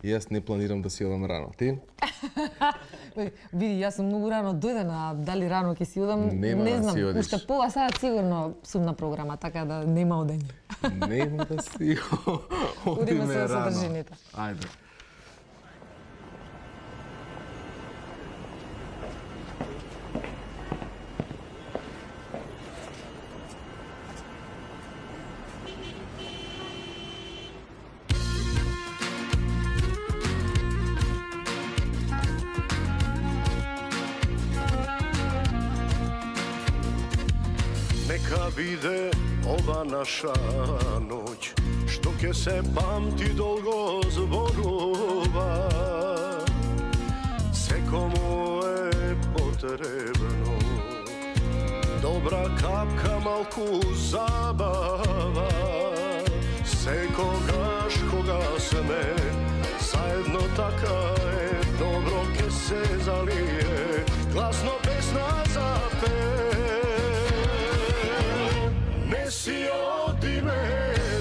И јас не планирам да си одам рано. Ти? Види, јас сум многу рано дојден, а дали рано ќе си одам, Нема не да знам. си одиш. Уште пола саат сигурно сум на програма, така да нема одење. Нема да си Одиме одиме со рано. содржините. Ајде. Neka vide ova naša noć, što ke se pamti dolgo zborova. Se komu je potrebno dobra kapka, malku zabava. Se kogaš koga sme, zajedno taka je, dobro ke se zalije, glasno pesna zape. Si odi me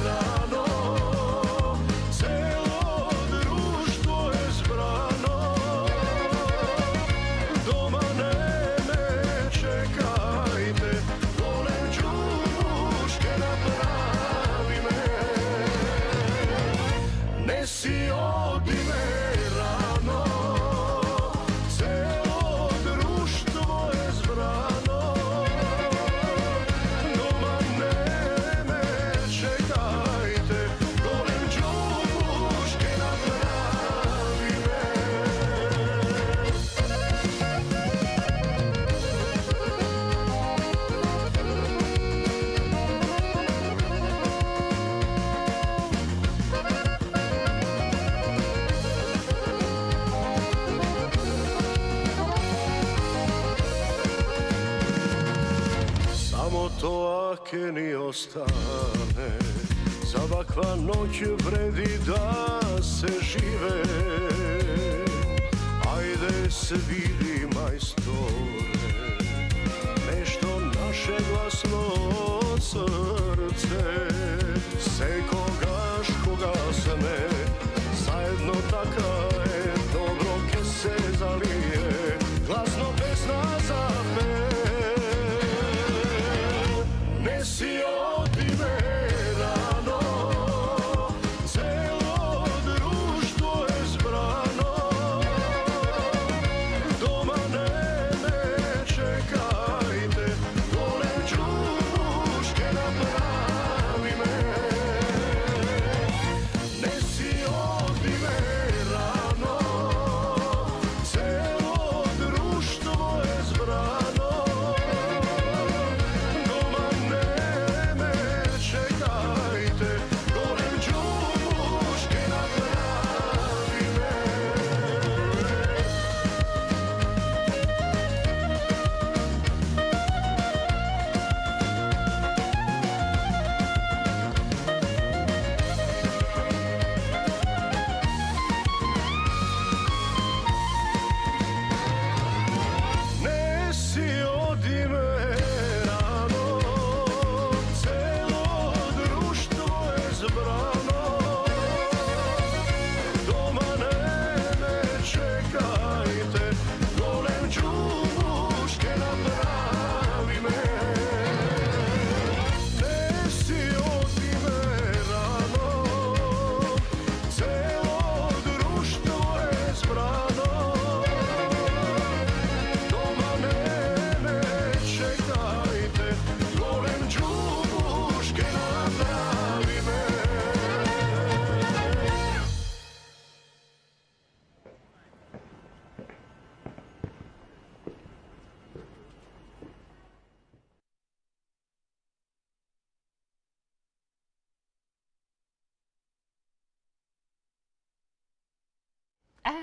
rano, celo društvo je zbrano, doma ne čekajte, volem čuške napravi me. Ne si odi me rano, celo društvo je zbrano, to ake ni ostane, za ovakva noć vredi da se žive. Ajde se vidi majstore, nešto naše glasno srce. Se kogaš koga sme, zajedno taka je, dobro ke se zalije, glasno pesna zape. Si odi me rano, celo društvo je zbrano, doma ne čekajte, volem čuške napravi me. Ne si odi me rano, celo društvo je zbrano,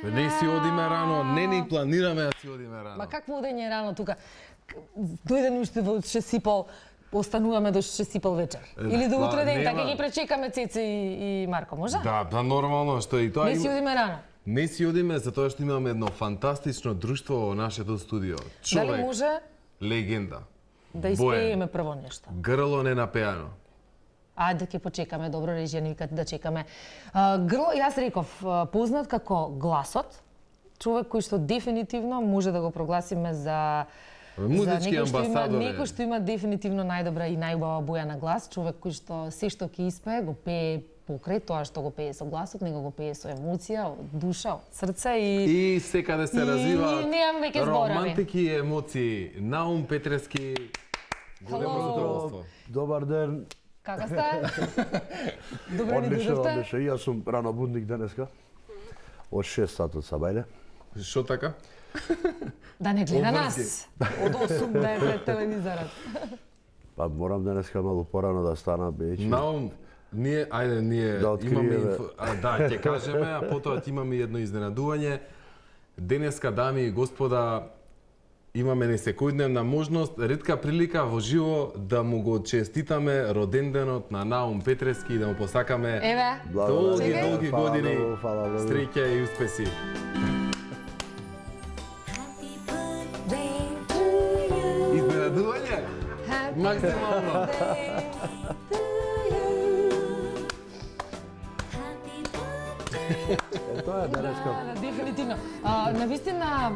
Не си одиме рано, не ни планираме да си одиме рано. Ма какво одење рано тука? Дојден уште во 6:30, остануваме до 6:30 вечер. Или до утре ден, така ги пречекаме Цеце и Марко, може? Да, нормално, што и тоа. Не си одиме рано. Не си одиме затоа што имаме едно фантастично друштво во нашето студио. Човек, дали може легенда. Да испееме прво нешто? Грло ненапеано. Ајде ќе почекаме, добро режија ни викат да чекаме. Грло, јас реков, познат како гласот, човек кој што дефинитивно може да го прогласиме за музички амбасадор. Некој што има дефинитивно најдобра и најубава боја на глас, човек кој што се што ќе испее го пее покрај тоа што го пее со гласот, него го пее со емоција, од душа, од срце И секаде се развиваат немам веќе зборови. романтики и емоции. Наум Петрески, големо Hello. задоволство. Добар ден. Како сте? Добре ни Одлично, дојдовте. одлично. И јас сум ранобудник денеска. Од 6 сат од Сабајле. Што така? Да не гледа Обврски. нас. Од 8 да е пред телевизорот. Па морам денеска малку порано да стана, бејќи. Наум, ние Да откриеме. имаме да, ќе кажеме, а потоа ќе имаме едно изненадување. Денеска, дами и господа, имаме несекојдневна можност, ретка прилика во живо да му го честитаме роденденот на Наум Петрески и да му посакаме Еве, долги, Чекај. долги Фала години, многу, фала многу. среќа и успеси. Изненадување? Максимално. Тоа е денеска. Да, дефинитивно. Навистина,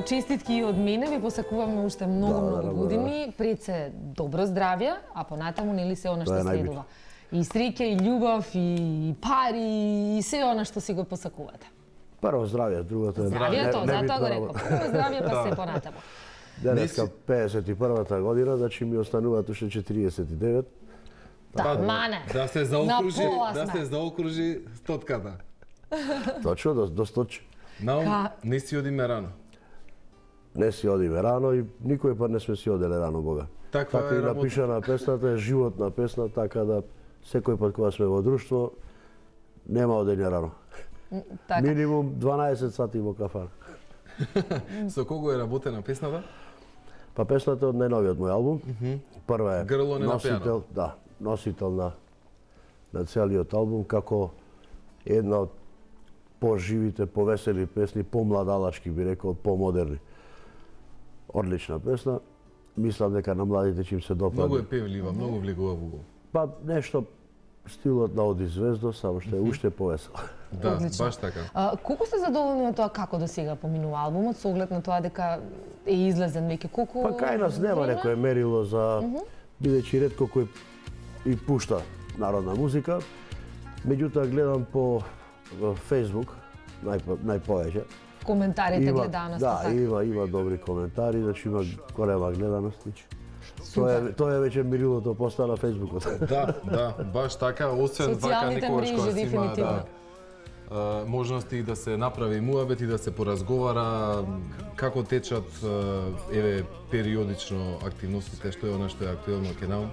честитки и од мене, ви посакуваме уште многу години, пред се добро здравје, а понатаму нели се она што Тоа е најбитно. следува. И среќа, и љубов, и пари, и се она што си го посакувате. Прво здравје, другото е Здравјето, затоа го небитно. реков. Прво здравје, па се понатаму. Денеска 51-та година, значи ми остануваат уште 49. Да, мане. Да се заокружи, На пола да сме. се заокружи стотката. Точно, до 100. Наум, Ка- не си одиме рано. Не си одиме рано и никој пат не сме си оделе рано, Бога. Таква Така е и работа. напишана песната, е животна песна, така да секој пат кога сме во друштво, нема одење рано. Така. Минимум 12 сати во кафана. Со кого е работена песната? Па песната од најновиот мој албум. Прва е Грло не носител, напиано. да, носител на целиот албум како една од поживите, повесели песни, помладалачки би рекол, помодерни. Одлична песна. Мислам дека на младите ќе им се допадне. Многу е певлива, многу влегува во го. Па нешто стилот на Оди Звездо, само што е уште повесел. Да, Одлично. баш така. Колку сте задоволни од тоа како до сега поминува албумот, со оглед на тоа дека е излезен веќе? Колку Па кај нас нема време? некое мерило за бидејќи ретко кој и пушта народна музика. Меѓутоа гледам по Facebook најповеќе. Коментарите, гледаност, да, така. има добри коментари, значи има голема гледаност. Тоа е веќе мерилото постана Фејсбукот. Да, баш така, освен вака Социјалните некогаш кога мрежи, си има дефинитивно. можности да се направи муабет и да се поразговара како течат еве периодично активностите, што е она што е актуелно ке Наум.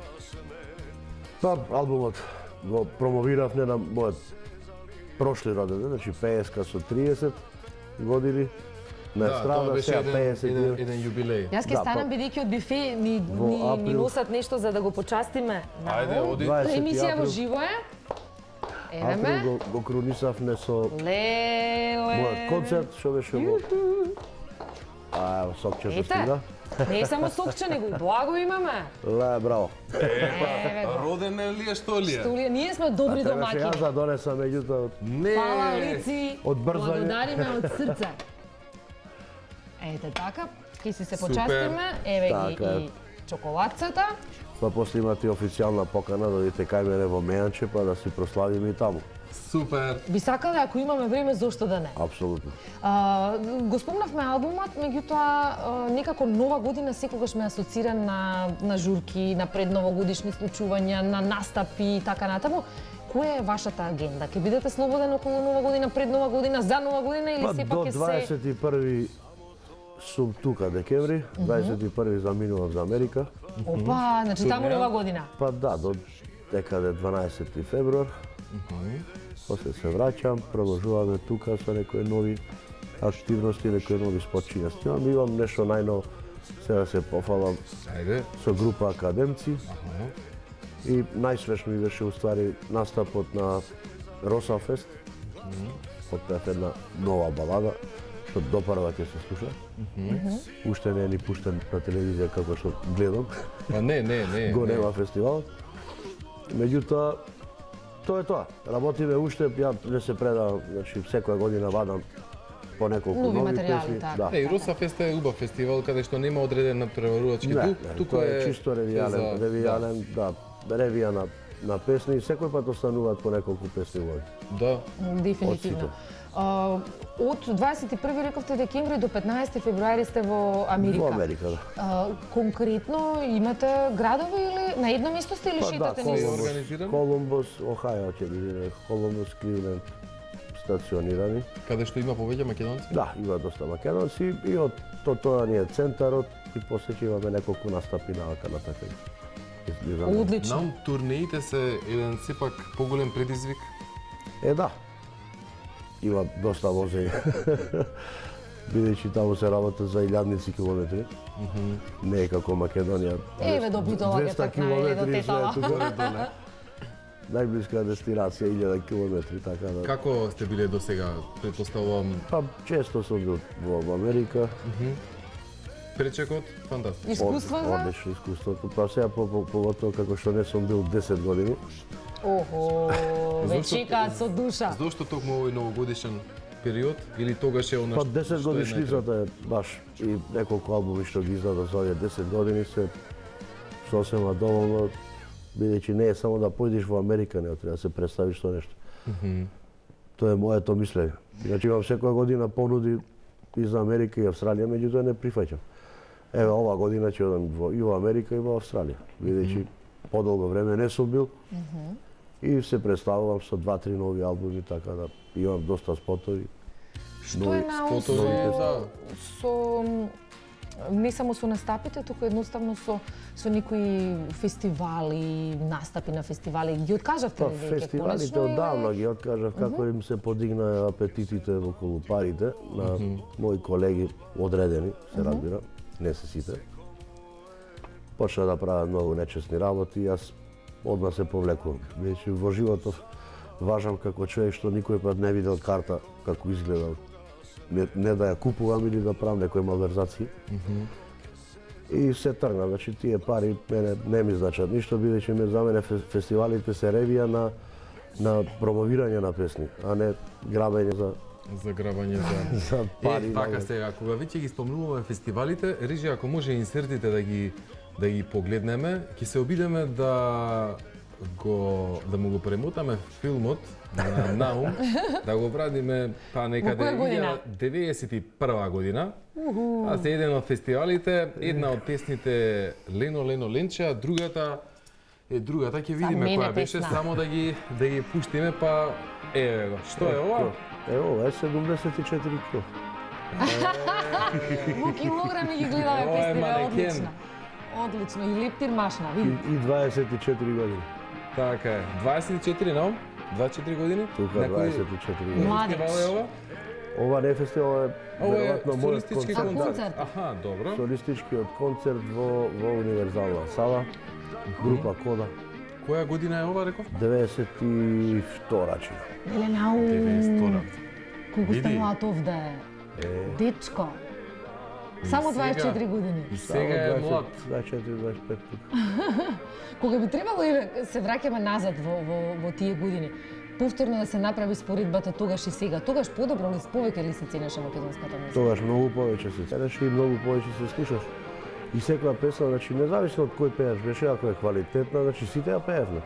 Па, албумот го промовирав не на мојот прошли роденден, значи 50 со 30 години. На Да, тоа страна беше сега еден 50. еден јубилеј. Јас ќе Да, станам па- бидејќи од бифе ни април- носат нешто за да го почастиме. Ајде, оди. 20 Емисија во април. живо е. Еве Април ме. го крунисавме со Леле. мојот концерт, што беше во... А, ево, сокчето Ете, стига. не е само сокче, него и благо имаме. Ле, браво. Еве го. Роден е ли е, што ли е? Стулија, ние сме добри Требаше домаќини. јас да донесам, меѓутоа, Не. Фала лици, Од брзање. благодариме од срце. Ете така, ќе си се Супер. почастиме, еве ги Така е. и чоколадцата. па после имате официјална покана, додите кај мене во Мејанче, па да си прославиме и таму. Супер. Би сакале, ако имаме време, зошто да не? Апсолутно. Го спомнавме албумот, меѓутоа некако нова година секогаш ме асоцира на журки, на предновогодишни случувања, на настапи и така натаму. Која е вашата агенда? Ќе бидете слободен околу нова година, пред нова година, за нова година или Па сепак до ќе се 21 сум тука декември, 21 заминував за Америка. Опа, значи таму Сумја. нова година. Па да, до декаде 12 февруар. После се враќам, продолжуваме тука со некои нови активности, некои нови спочиња снимам. Имам нешто најново, сега се пофалам Ајде. со група академци. И најсвежно ми беше уствари настапот на Росафест. Отпеав една нова балада, што допрва ќе се слуша. Уште не е ни пуштен на телевизија како што гледам. Па не. Го нема фестивалот. Меѓутоа, тоа е тоа. Работиме уште, ја не се предавам, значи секоја година вадам по неколку Нови нови материјали, песни. така. Да. И Руса Фест е убав фестивал каде што нема одреден натпреварувачки дух, туку тоа е чисто ревијален, да, ревија на песни и секој пат остануваат по неколку песни во Да. Дефинитивно. Од 21 рековте декември до 15 февруари сте во Америка. Во Америка, да. Конкретно имате градови или на едно место сте или шетате Колумбус. низ? Организиран? Колумбус, Охајо ќе биде, Колумбус, Кливленд стационирани. Каде што има повеќе македонци? Да, има доста македонци и од тоа ни е центарот и после ќе имаме неколку настапи навака на така. Одлично. Нам турнеите се еден сепак поголем предизвик. Да. Има доста возење. Бидејќи таму се работа за илјадници километри. Не е како Македонија. Еве до Битола ќе тркна или до Тетала. Горе-доле. Најблиска дестинација 1000 километри, така да. Како сте биле до сега? Претпоставувам Па често сум бил во Америка. пречекот, фантастично. Искуство за? Одлично искуството. Па сега поготово како што не сум бил 10 години. Охо, ве Зошто- чекаат со душа. Зошто токму овој новогодишен период или тогаш е она Па што 10 е годишницата е баш и неколку албуми што ги издаде за овие 10 години се сосема доволно, бидејќи не е само да појдеш во Америка, не треба да се представиш со нешто. Тоа е моето мислење. Иначе имам секоја година понуди и за Америка и Австралија, меѓутоа не прифаќам. Еве ова година ќе одам и во Америка и во Австралија, бидејќи подолго време не сум бил. И се представувам со 2-3 нови албуми, така да имам доста спотови. Што е наум спотови, со не само со настапите, туку едноставно со некои фестивали, настапи на фестивали. Ги откажавте Па, ли веќе? фестивалите конечно, одавно ги откажав како им се подигна апетитите околу парите на мои колеги одредени, се разбира, не се сите. Почна да прават многу нечесни работи и јас одма се повлекувам. Бидејќи во животот важам како човек што никој пат не видел карта како изгледа. Не да ја купувам или да правам некои малверзации. И се тргна, значи тие пари мене не ми значат ништо, бидејќи за мене фестивалите се ревија на промовирање на песни, а не грабење за грабање за за пари. така сега, кога веќе ги спомнуваме фестивалите, Рижи, ако може инсертите да ги погледнеме, ќе се обидеме да му го премотаме филмот на Наум, да го врадиме па некаде 1991 година. А се еден од фестивалите, една од песните Лено Ленче, другата ќе видиме која беше, само да ги пуштиме, па еве го. Што е ова? Ова е 74 кг. Во килограми ги гледаме Ова е песните, манекен. одлично. Одлично, и лептир машна, види. И 24 години. Така е. 24, но? 24 години? Тука 24 години. Младеж. Фестивал е ова? Ова не е фестивал, ова е Ова е веројатно мојот солистички концерт. концерт. Аха, добро. Солистичкиот концерт во универзална сала, група Кода, Која година е ова, реков? 92 чина. Еле нау. 92. Колку сте Види. млад овде. Дечко. Само сега- 24 години. И сега е млад. 24-25 тука. Кога би требало и се враќаме назад во тие години, повторно да се направи споредбата тогаш и сега. Тогаш подобро ли, повеќе ли се ценеше македонската музика? Тогаш многу повеќе се ценеше и многу повеќе се слушаш. И секоја песна, значи независно од кој пееш беше, ако е квалитетна, значи сите ја пеевме.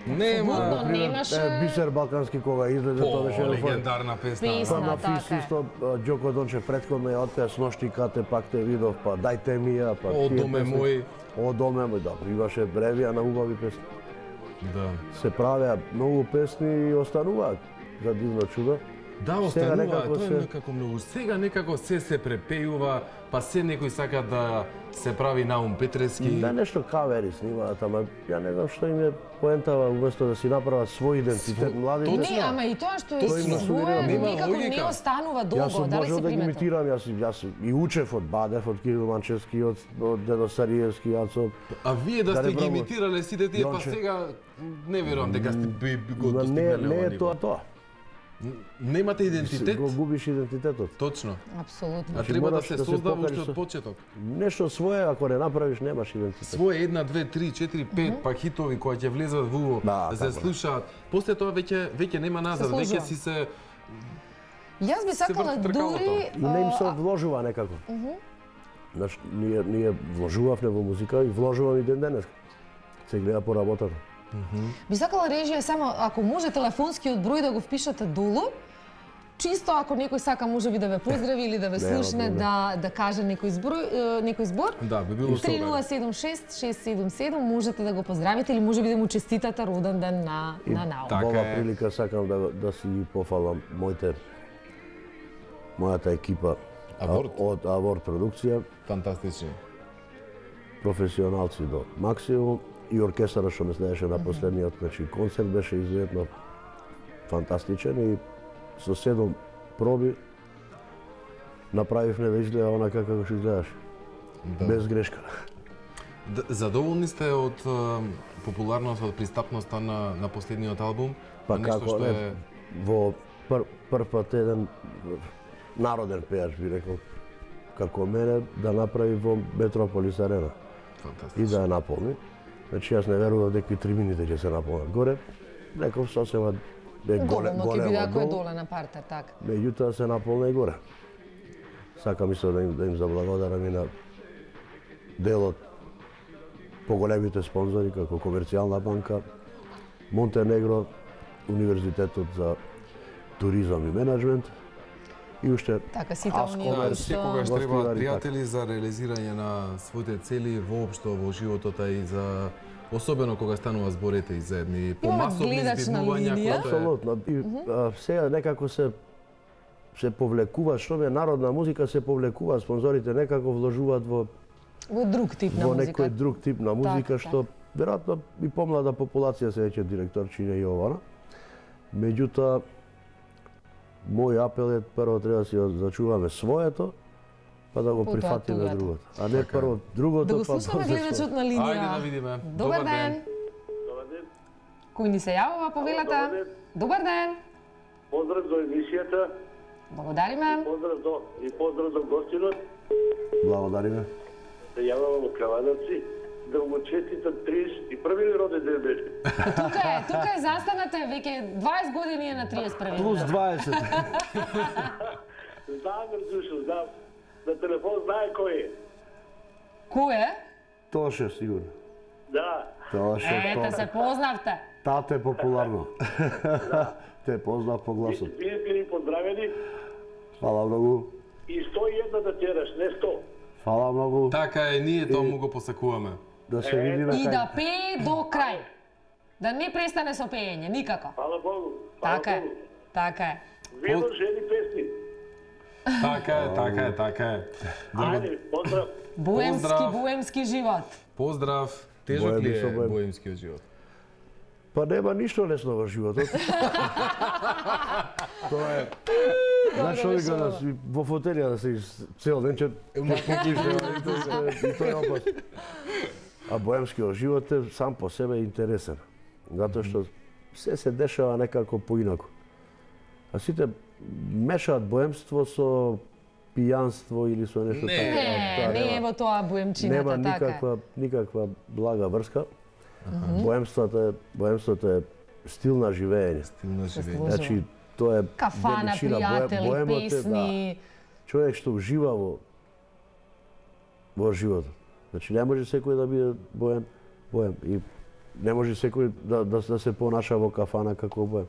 Нема. Апсолутно немаше Бисер Балкански кога излезе, тоа беше едно Легендарна песна. Песна. Па на така Фис е. исто Ѓоко Дончев претходно ја отпеа с ношти кате, пак те видов, па дајте ми ја, па О, тие доме песни. мој. О, доме мој, да, имаше бревија на убави песни. Да. Се правеа многу песни и остануваат за дивно чудо. Да, Сега останува, некако тоа е се- некако многу. Сега некако се препејува, па се некој сака да се прави Наум Петрески. Да, нешто кавери снимаат, ама ја не знам што им е поентава, уместо да си направат свој идентитет младите. Точно. Не, ама и тоа што е Точно. своje Нема никако не логика. останува Јас долго, сум дали можел се да ги приметно? имитирам, јас и учев од Бадев, од Кирил Манчевски, од Дедо Сариевски, јас А вие да Да сте не ги пробувам. имитирале сите тие, па Јонче. сега не верувам дека сте би го не достигнале е ова ниво. тоа. Немате идентитет? Го губиш идентитетот. Точно. Апсолутно. А треба да мораш се да се создава покажеш уште со- од почеток. Нешто свое, ако не направиш, немаш идентитет. Своje 1, 2, 3, 4, 5 па хитови кои ќе влезат во Да, да се така. слушаат. После тоа веќе нема назад, веќе служува. си се Јас би сакала врти тркалото. дури И не им се вложува некако. Знаеш, ние вложувавме во музика и вложувам и ден денес. Се гледа по работата. би сакала режија само ако може телефонскиот број да го впишете долу. Чисто ако некој сака можеби да ве поздрави или да ве Нема слушне, проблем. да каже некој збор. Да, би било супер. 3076-677 можете да го поздравите или можеби да му честитате роден ден на Нао. Така Во оваа е. прилика сакам да си ги пофалам мојата екипа Аворт. од Аворт продукција, Фантастични. професионалци до максимум и оркестарот што ме следеше на последниот, значи концерт беше изуетно фантастичен и со 7 проби направивме да изгледа онака како што изгледаш. Да. Без грешка. Задоволни сте од популарноста, од пристапноста на последниот албум? Па На нешто како што не, е- во прв пат еден народен пејач би рекол како мене да направи во Метрополис Арена и Фантастично. да ја наполни. Значи јас не верував дека трибините ќе се наполнат горе. Реков сосема Доволно ќе биде ако е долу, доле на партер, така. меѓутоа се наполна и горе. Сакам исто да им заблагодарам и на дел од поголемите спонзори како Комерцијална банка, Монтенегро, Универзитетот за туризам и менеджмент и уште Така сите Аско, оние Да, кои секогаш што требаат гостивари, пријатели за реализирање на своите цели воопшто во животот, а и за особено кога станува зборите и за едни помасовни гледачна збивувања, линија. кои тоа е апсолутно. И сега некако се повлекува, што е народна музика, се повлекува, спонзорите некако вложуваат во друг тип на некој музика. друг тип на музика, Така, што веројатно и помлада популација се веќе директорчиња и ова. Меѓутоа, мој апел е прво треба да си зачуваме своето, па да го Потоа прифатиме туѓото. другото. А не Така е. прво другото, Да го па слушаме после гледачот своето. на линија. Ајде да видиме. Добар ден. Добар ден. Кој ни се јавува по вилата? Добар ден. Добар ден. Поздрав до емисијата Благодариме. поздрав до гостинот. Благодариме. Се јавам во Кавадарци да му честитам 31 роден ден беше. Тука е застанете веќе 20 години е на 31. Плюс ден. 20. Знам, Рзушо, знам. На телефон знае кој е. Кој е? Тоше, сигурно. Да. Тоше, Ете се познавте. Тате е популарно. Те познав по гласот. Бидете ни поздравени Фала многу. и 101 да тераш, не 100. Фала многу. Така е, ние тоа му го посакуваме. Да се видиме И кај. да пее до крај. Да не престане со пеење, никако. Фала Богу. Фала Така е. Богу. Така е. Видно жени песни. Така е. Ајде, поздрав. Поздрав. Боемски живот. Поздрав. Тежок ли Боеми со е боем. боемскиот живот? Па нема ништо лесно во животот. Тоа е. Знаеш што вика да си во фотелија да си цел ден че и тоа е опасно. А боемскиот живот е сам по себе интересен. Затоа што се дешава некако поинаку. А сите мешаат боемство со пијанство или со нешто Не. така. Не, Тоа не е нема- во тоа Нема боемчината, така е. никаква блага врска. Боемството е стил на живење. На Се живење. служува. Значи, тоа е Кафана, величина. пријатели, Боемот е, песни. човек што ужива во животот. Значи не може секој да биде боем и не може секој да се понаша во кафана како боем.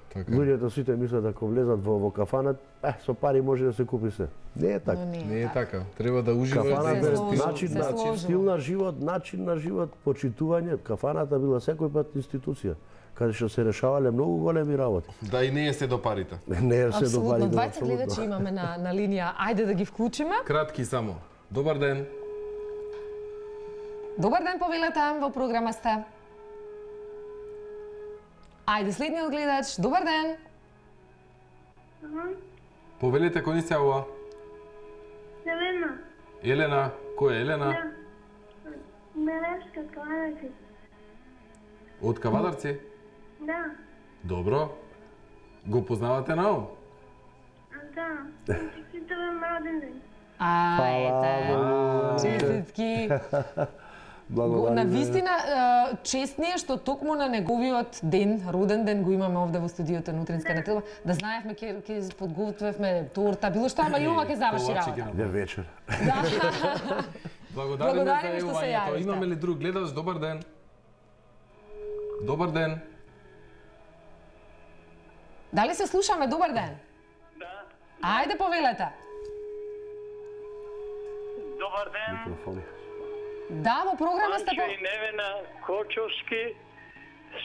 Така. Луѓето сите мислат ако влезат во кафана, со пари може да се купи се. Не е така. Но Не е така. Треба да уживаш Кафаната Се е сложува, начин се на сложува. стил на живот, начин на живот, почитување. Кафаната била секој пат институција, каде што се решавале многу големи работи. Да и не е се до парите. Не е се до пари. Апсолутно, 20 гледачи имаме на линија. Ајде да ги вклучиме. Кратки само. Добар ден. Добар ден, повелете, во програма сте. Ајде, следниот гледач. Добар ден. Повелете кој ни се јавува? Елена, Елена. Кој е Елена? Мелешка Кавадарци. Од Кавадарци? Да, Добро. Го познавате Наум? Да, честитам роден ден. Честитки. Благодарам. На вистина, чест ни е што токму на неговиот ден, роден ден, го имаме овде во студиото на Утринска неделба, да знаевме ќе подготвевме торта, било што, ама и ова ќе заврши работа. Де вечер. Благодариме Благодариме за што се јавањето. јавивте. Имаме ли друг гледач? Добар ден. Добар ден. Дали се слушаме? Добар ден. Да, Ајде повелете. добар ден. Микрофони. Да, во програма сте Панчо и Невена Кочовски.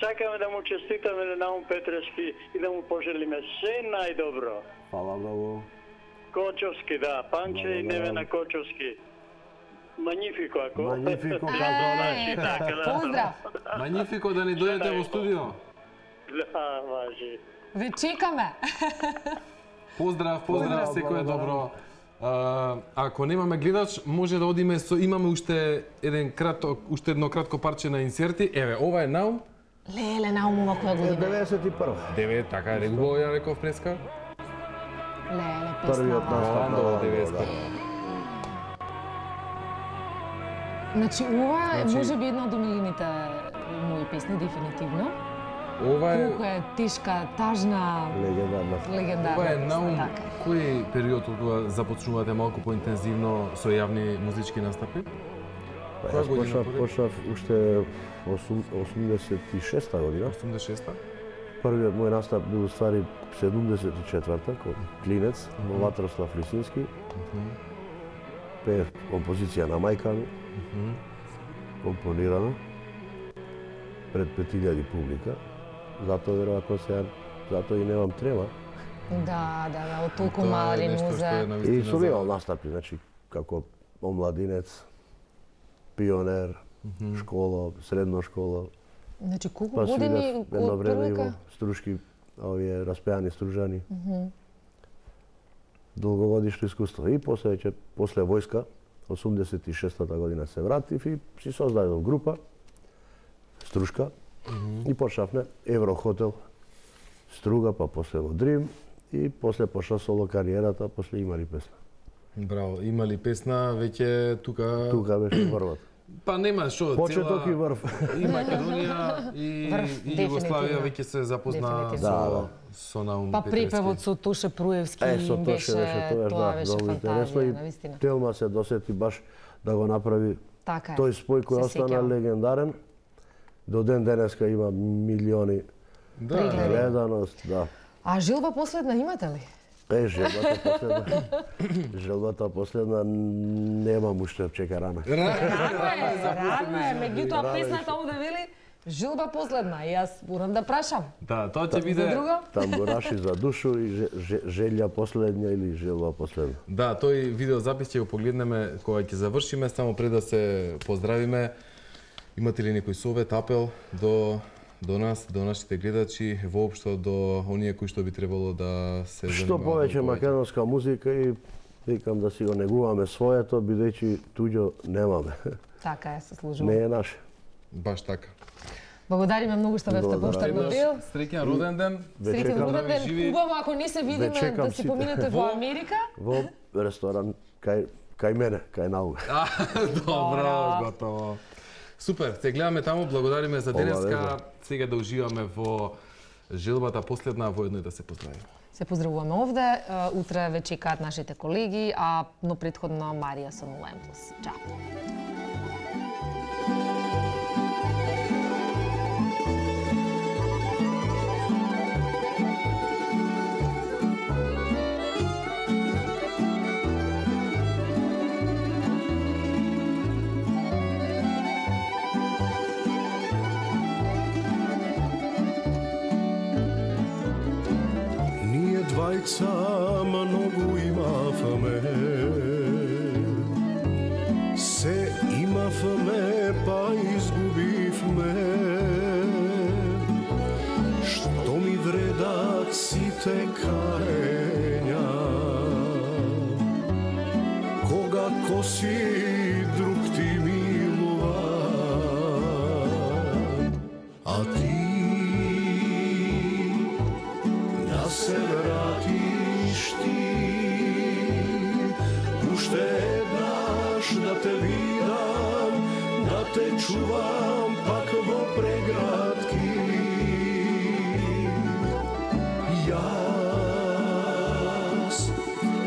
Сакаме да му честитаме на Наум Петрески и да му пожелиме се најдобро. Фала многу. Кочовски, да, Панчо и Невена Кочовски. Манифико, ако. Манифико, како Ај, така, да. поздрав. Манифико да ни дојдете во студио. Да, важи. Ве чекаме. Поздрав, Поздрав, секој е благодарам. добро. Ако немаме гледач, може да одиме имаме уште едно кратко парче на инсерти. Еве, ова е Наум. Леле, Наумова која година? 91. 9, така е, регуло ја реков преска. Леле, Првиот песна. настап на Андова, Андова, 90. да. Значи, ова е Значи- може би една од омилените мои песни, дефинитивно. Ова е Колку е тешка, тажна, Легендарна. легендарна. Ова е песна, Наум. така. Кој период од кога започнувате малку поинтензивно со јавни музички настапи? Која Јас година почнав уште 86-та година. 86-та? Првиот мој настап бил ствари 74-та, како клинец, во Ватрослав Лисински. Пеев композиција на мајка ми, компонирана, пред 5000 публика. Затоа веројатно сега, затоа и немам трема. Да, од толку Тоа е мали нешто што е музе. навистина И сум за- имал настапи, значи, како омладинец, пионер, школа, средна школа. Значи, колку Па години свирев едно од време и во првика? струшки, овие распеани стружани. Долгогодишно искуство. И после војска, 86-та година се вратив и си создадов група, струшка, и почнавме Еврохотел, Струга, па после во Дрим, и после почна соло кариерата, после имали песна. Браво, имали песна, веќе тука... Тука беше врвот. Па нема што, Почеток и врв. И Македонија и, Врв, и Југославија дефинитивно. веќе се запозна Дефинитивно. со Наум Па Петрески. припевот со Тоше Пруевски Со Тоше беше тоа, тоа да, беше многу интересно фантазија, и навистина. Телма се досети баш да го направи Така е. тој спој кој Се остана сеќавам. легендарен. До ден денеска има милиони Да, Прегледи. гледаност, да. А желба последна имате ли? Желбата последна. Желбата последна немам уште чека рана. Рано е, меѓутоа песната овде вели желба последна. И јас морам да прашам. Да, тоа ќе За биде... друго? Тамбураши за душу и желја последња или желба последна. Да, тој видеозапис ќе го погледнеме кога ќе завршиме, само пред да се поздравиме. Имате ли некој совет, апел до нас, до нашите гледачи, воопшто до оние кои што би требало да се Што занимаваат повеќе македонска музика и викам да си го негуваме своето, бидејќи туѓо немаме. Така е, се Не служува. е наше. Баш така. Благодариме многу што бевте Благодарам. поштарно бил. Среќен роден ден. Ве Среќен чекам роден ден. живи. Убаво ако не се видиме чекам да си сите. поминете во Во- Америка. во ресторан кај мене, кај Науга. Добро, готово. Супер, те гледаме таму, благодариме за денеска. Обавезно. Сега да уживаме во желбата последна, воедно и да се поздравиме. Се поздравуваме овде. Утре ве чекаат нашите колеги, но претходно Марија со 0+. Чао. Ние двајца многу имавме, се имавме па изгубивме. Што ми вредат сите каења, кога коси друг ти милува, а ти на čuvam pak vo pregratki. Jas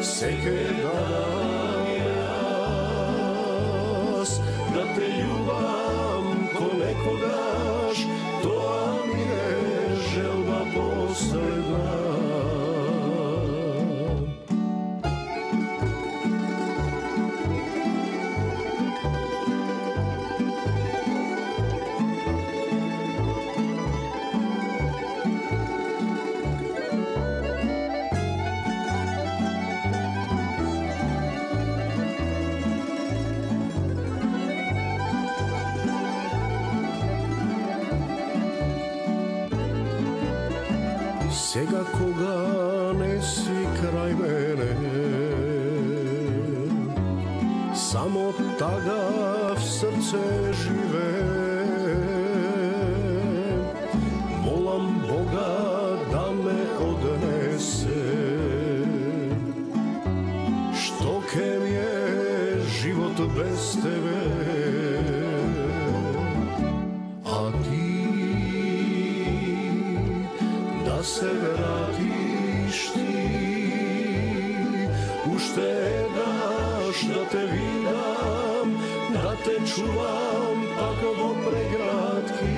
seke danas da te ljubam ko nekogaš, to mi je želba posledna. Сега кога не си крај мене, само тага в срце живе. Молам Бога да ме однесе, што ке ми е живот без тебе. А ти да се вратиш ти, уште еднаш да те видам, да те чувам пак во прегратки.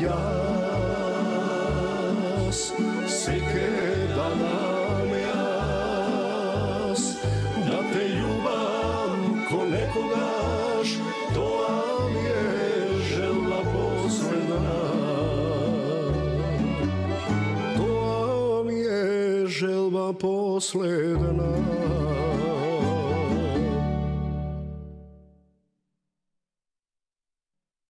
Јас секе данам јас да те љубам ко некогаш, тоа ми е желба последна. Желба последна.